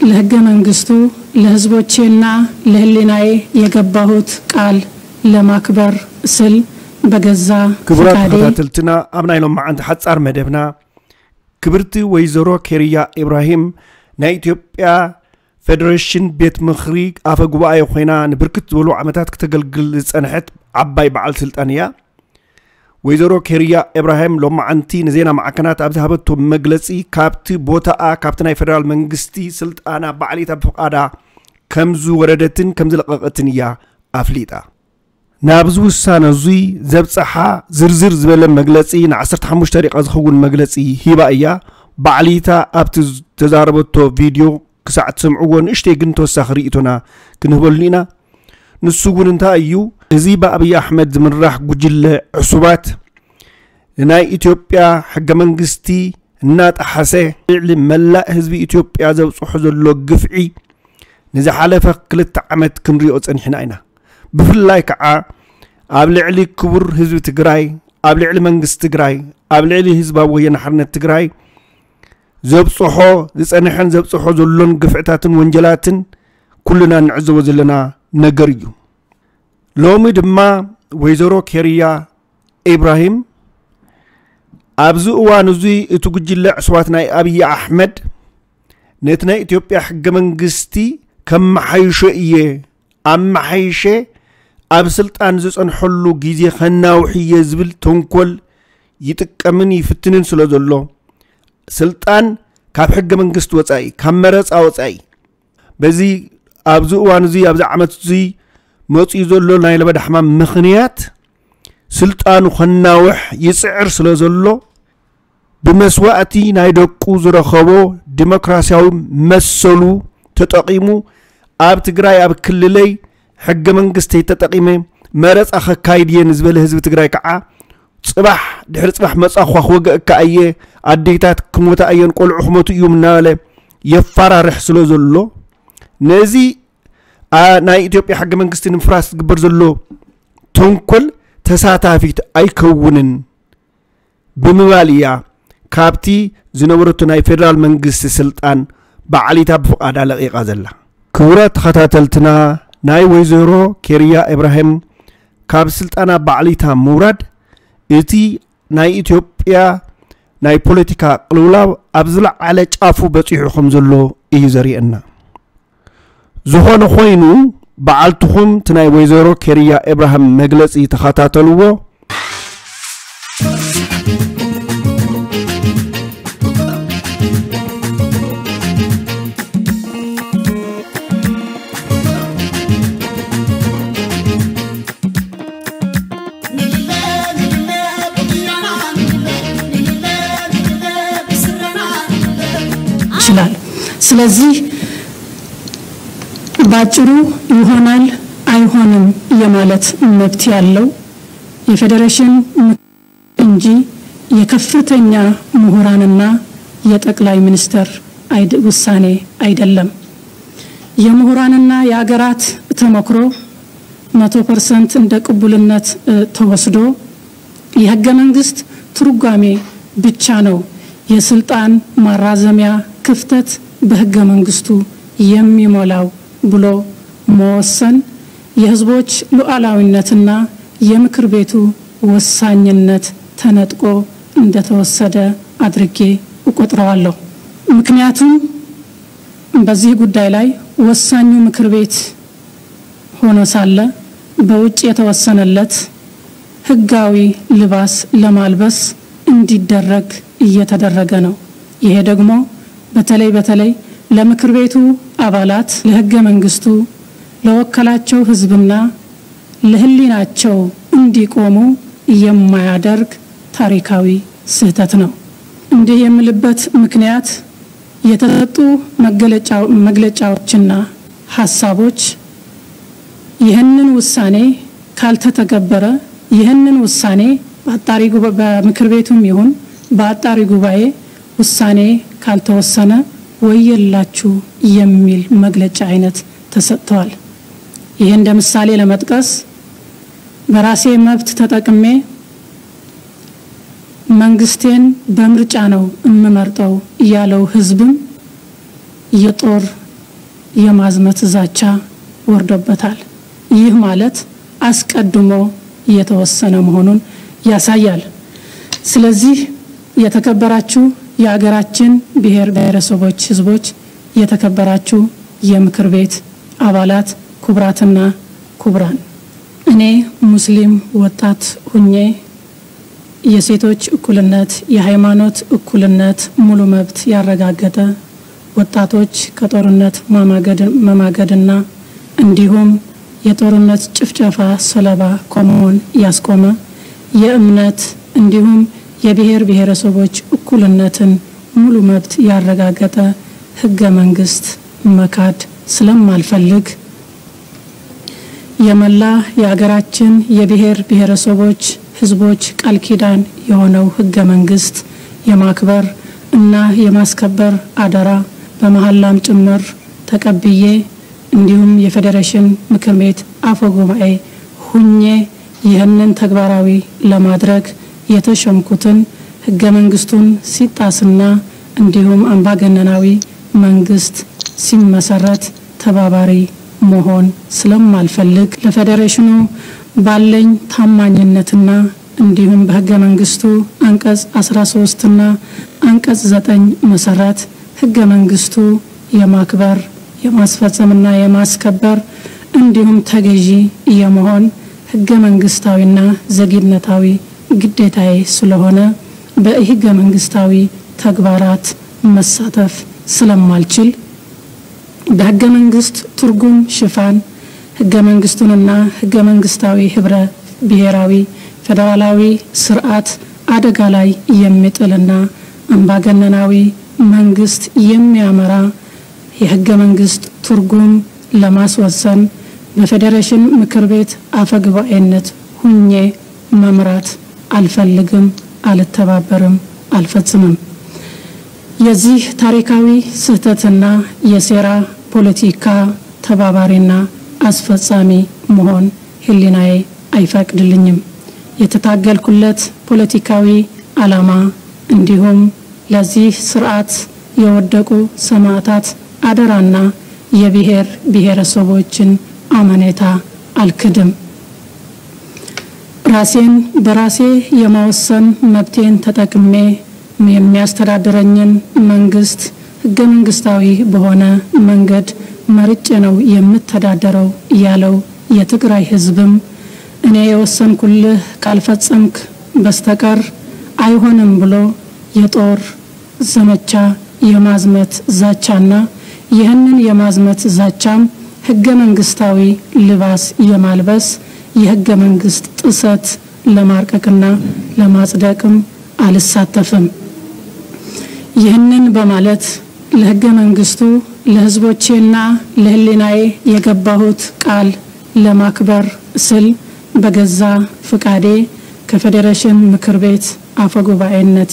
ለህገ መንግስቱ፣ ለህዝቦቼና ለህሊናዬ የገባሁት ቃል ለማክበር ስል በገዛ ክቡራት ፍቃዴ ተኸታተልትና፣ ኣብ ናይ ሎማዓንቲ ሓጻር መደብና፣ ክብርቲ ወይዘሮ ኬርያ ኢብራሂም ናይ ኢትዮጵያ ፌደሬሽን ቤት ምኽሪ ኣፈ ጉባኤ ኮይና ንብርክት ዝበሉ ዓመታት ክተገልግል ዝጸንሐት ዓባይ በዓል ስልጣን እያ። ወይዘሮ ኬርያ ኢብራሂም ሎማዓንቲ ንዜና ማዕከናት ኣብ ዝሃበቶ መግለጺ፣ ካብቲ ቦታኣ ካብቲ ናይ ፌደራል መንግስቲ ስልጣና ባዕሊታ ብፍቓዳ ከም ዝወረደትን ከም ዝለቐቐትን እያ ኣፍሊጣ። ናብዚ ውሳነ እዙይ ዘብፀሓ ዝርዝር ዝበለ መግለፂ ን15 ደቂቃ ዝኸውን መግለፂ ሂባ እያ። ባዕሊታ ኣብቲ ዝተዛረበቶ ቪድዮ ክሳዕ ትሰምዕዎ ንእሽተይ ግን ተወሳኺ ርእይቶና ክንህበሉ ኢና። ንሱ እውን እንታይ እዩ? እዚ ብኣብይ ኣሕመድ ዝምራሕ ጉጅለ ዕሱባት ንናይ ኢትዮጵያ ሕገ መንግስቲ እናጠሓሰ ልዕሊ መላእ ህዝቢ ኢትዮጵያ ዘብፅሖ ዘሎ ግፍዒ ንዝሓለፈ ክልተ ዓመት ክንሪኦ ፀኒሕና ኢና። ብፍላይ ከዓ ኣብ ልዕሊ ክቡር ህዝቢ ትግራይ፣ ኣብ ልዕሊ መንግስቲ ትግራይ፣ ኣብ ልዕሊ ህዝባዊ ወያነ ሓርነት ትግራይ ዘብፅሖ ዝፀንሐን ዘብፅሖ ዘሎን ግፍዕታትን ወንጀላትን ኩልና እንዕዘቦ ዘለና ነገር እዩ። ሎሚ ድማ ወይዘሮ ኬርያ ኢብራሂም ኣብዚ እዋን እዙይ እቲ ጉጅለ ዕሱባት ናይ ኣብይ ኣሕመድ ነቲ ናይ ኢትዮጵያ ሕገ መንግስቲ ከመሓይሾ እየ፣ ኣመሓይሸ ኣብ ስልጣን ዝፀንሐሉ ግዜ ከናውሕ እየ ዝብል ተንኮል ይጥቀምን ይፍትንን ስለ ዘሎ፣ ስልጣን ካብ ሕገ መንግስቲ ወፃኢ፣ ካብ መረፃ ወፃኢ፣ በዚ ኣብዚ እዋን እዚ ኣብዚ ዓመት እዚ መፂኡ ዘሎ ናይ ለበዳ ሕማም ምኽንያት ስልጣኑ ከናውሕ ይፅዕር ስለ ዘሎ፣ ብመስዋእቲ ናይ ደቁ ዝረኸቦ ዲሞክራሲያዊ መሰሉ ተጠቒሙ፣ ኣብ ትግራይ ኣብ ክልለይ ሕገ መንግስተይ ተጠቒመ መረፃ ከካይድ እየ ንዝበለ ህዝቢ ትግራይ ከዓ፣ ፅባሕ ድሕሪ ፅባሕ መፃእኳ ክወግአካ እየ፣ ኣዴታት ክሞታ እየን፣ ቆልዑ ክሞቱ እዮም እናበለ የፋራርሕ ስለ ዘሎ፣ ነዚ ኣ- ናይ ኢትዮጵያ ሕገ መንግስቲ ንምፍራስ ዝግበር ዘሎ ተንኮል ተሳታፊት ኣይከውንን ብምባል እያ ካብቲ ዝነበረቶ ናይ ፌደራል መንግስቲ ስልጣን ባዕሊታ ብፍቓዳ ለቒቓ ዘላ። ክቡራት ተኸታተልትና፣ ናይ ወይዘሮ ኬርያ ኢብራሂም ካብ ስልጣና ባዕሊታ ምውራድ እቲ ናይ ኢትዮጵያ ናይ ፖለቲካ ቅልውላው ኣብ ዝለዓለ ጫፉ በፂሑ ከም ዘሎ እዩ ዘርእየና። ዝኾነ ኮይኑ፣ በዓልትኹም እቲ ናይ ወይዘሮ ኬርያ ኢብራሂም መግለፂ ተኸታተልዎ። ይችላል። ስለዚህ ባጭሩ ይሆናል አይሆንም የማለት መብት ያለው የፌዴሬሽን ምክር እንጂ የከፍተኛ ምሁራንና የጠቅላይ ሚኒስትር አይድ- ውሳኔ አይደለም። የምሁራንና የአገራት ተመክሮ መቶ ፐርሰንት እንደ ቅቡልነት እ፣ ተወስዶ የህገ መንግስት ትርጓሜ ብቻ ነው የስልጣን ማራዘሚያ ክፍተት በህገ መንግስቱ የሚሞላው ብሎ መወሰን የህዝቦች ሉዓላዊነትና የምክር ቤቱ ወሳኝነት ተነጥቆ እንደተወሰደ አድርጌ እቆጥረዋለሁ። ምክንያቱም በዚህ ጉዳይ ላይ ወሳኙ ምክር ቤት ሆኖ ሳለ በውጭ የተወሰነለት ህጋዊ ልባስ ለማልበስ እንዲደረግ እየተደረገ ነው። ይሄ ደግሞ በተለይ በተለይ ለምክር ቤቱ አባላት፣ ለህገ መንግስቱ፣ ለወከላቸው ህዝብና ለህሊናቸው እንዲቆሙ የማያደርግ ታሪካዊ ስህተት ነው። እንዲህ የምልበት ምክንያት የተሰጡ መገለጫው- መግለጫዎችና ሀሳቦች ይህንን ውሳኔ ካልተተገበረ፣ ይህንን ውሳኔ በአጣሪ ጉባ- በምክር ቤቱም ይሁን በአጣሪ ጉባኤ ውሳኔ ካልተወሰነ ወየላችሁ የሚል መግለጫ አይነት ተሰጥተዋል። ይሄ እንደ ምሳሌ ለመጥቀስ በራሴ መብት ተጠቅሜ መንግስቴን በምርጫ ነው የምመርጠው ያለው ህዝብም የጦር የማዝመት ዛቻ ወርዶበታል። ይህ ማለት አስቀድሞ የተወሰነ መሆኑን ያሳያል። ስለዚህ የተከበራችሁ የአገራችን ብሔር ብሔረሰቦች ህዝቦች፣ የተከበራችሁ የምክር ቤት አባላት፣ ክቡራትና ክቡራን፣ እኔ ሙስሊም ወጣት ሁኜ የሴቶች እኩልነት፣ የሃይማኖት እኩልነት፣ ሙሉ መብት ያረጋገጠ፣ ወጣቶች ከጦርነት ማማገድ- መማገድና እንዲሁም የጦርነት ጭፍጨፋ ሰለባ ከመሆን ያስቆመ፣ የእምነት እንዲሁም የብሔር ብሔረሰቦች እኩልነትን ሙሉ መብት ያረጋገጠ ህገ መንግስት መካድ ስለማልፈልግ፣ የመላ የአገራችን የብሔር ብሔረሰቦች ህዝቦች ቃል ኪዳን የሆነው ህገ መንግስት የማክበር እና የማስከበር አደራ በመሐላም ጭምር ተቀብዬ፣ እንዲሁም የፌዴሬሽን ምክር ቤት አፈ ጉባኤ ሁኜ ይህንን ተግባራዊ ለማድረግ የተሾምኩትን፣ ህገ መንግስቱን ሲጣስና እንዲሁም አምባገነናዊ መንግስት ሲመሰረት ተባባሪ መሆን ስለማልፈልግ፣ ለፌዴሬሽኑ ባለኝ ታማኝነትና እንዲሁም በህገ መንግስቱ አንቀጽ አስራ ሶስት እና አንቀጽ ዘጠኝ መሰረት ህገ መንግስቱ የማክበር፣ የማስፈጸምና የማስከበር እንዲሁም ተገዢ የመሆን ህገ መንግስታዊና ዜግነታዊ ግዴታዬ ስለሆነ፣ በህገ መንግስታዊ ተግባራት መሳተፍ ስለማልችል፣ በህገ መንግስት ትርጉም ሽፋን ህገ መንግስቱንና ህገ መንግስታዊ ህብረ ብሔራዊ ፌዴራላዊ ስርዓት አደጋ ላይ የሚጥልና አምባገነናዊ መንግስት የሚያመራ የህገ መንግስት ትርጉም ለማስወሰን በፌዴሬሽን ምክር ቤት አፈ ጉባኤነት ሁኜ መምራት አልፈልግም፣ አልተባበርም፣ አልፈጽምም። የዚህ ታሪካዊ ስህተትና የሴራ ፖለቲካ ተባባሪና አስፈጻሚ መሆን ህሊናዬ አይፈቅድልኝም። የተታገልኩለት ፖለቲካዊ ዓላማ እንዲሁም ለዚህ ስርዓት የወደቁ ሰማዕታት አደራና የብሔር ብሔረሰቦችን አመኔታ አልክድም። ራሴን በራሴ የመወሰን መብቴን ተጠቅሜ የሚያስተዳድረኝን መንግስት ህገ መንግስታዊ በሆነ መንገድ መርጬ ነው የምተዳደረው ያለው የትግራይ ህዝብም፣ እኔ የወሰንኩልህ ካልፈጸምክ በስተቀር አይሆንም ብሎ የጦር ዘመቻ፣ የማዝመት ዛቻና ይህንን የማዝመት ዛቻም ህገ መንግስታዊ ልባስ የማልበስ የህገ መንግስት ጥሰት ለማርቀቅና ለማጽደቅም አልሳተፍም። ይህንን በማለት ለህገ መንግስቱ፣ ለህዝቦቼና ለህሊናዬ የገባሁት ቃል ለማክበር ስል በገዛ ፍቃዴ ከፌዴሬሽን ምክር ቤት አፈ ጉባኤነቴ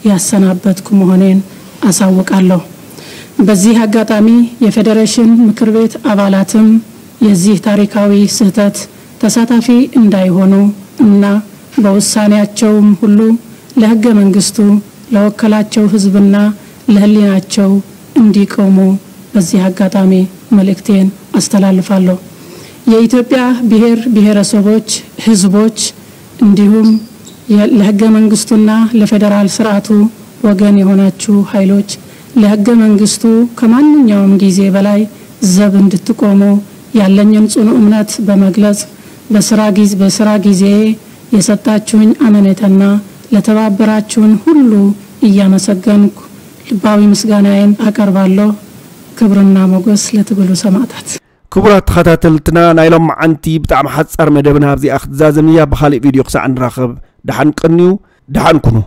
ያሰናበትኩ መሆኔን አሳውቃለሁ። በዚህ አጋጣሚ የፌዴሬሽን ምክር ቤት አባላትም የዚህ ታሪካዊ ስህተት ተሳታፊ እንዳይሆኑ እና በውሳኔያቸውም ሁሉ ለህገ መንግስቱ፣ ለወከላቸው ህዝብና ለህሊናቸው እንዲቆሙ በዚህ አጋጣሚ መልእክቴን አስተላልፋለሁ። የኢትዮጵያ ብሔር ብሔረሰቦች ህዝቦች እንዲሁም የ- ለህገ መንግስቱና ለፌዴራል ስርዓቱ ወገን የሆናችሁ ኃይሎች ለህገ መንግስቱ ከማንኛውም ጊዜ በላይ ዘብ እንድትቆሙ ያለኝን ጽኑ እምነት በመግለጽ፣ በስራ ጊዜ በስራ ጊዜ የሰጣችሁኝ አመኔታና ለተባበራችሁን ሁሉ እያመሰገንኩ ልባዊ ምስጋናዬን አቀርባለሁ። ክብርና ሞገስ ለትግሉ ሰማዕታት። ክቡራት ተኸታተልትና፣ ናይ ሎማዓንቲ ብጣዕሚ ሓጻር መደብና ኣብዚኣ ክትዛዘም እያ። ብኻልእ ቪድዮ ክሳዕ ንራኸብ፣ ደሓን ቀንዩ፣ ደሓን ኩኑ።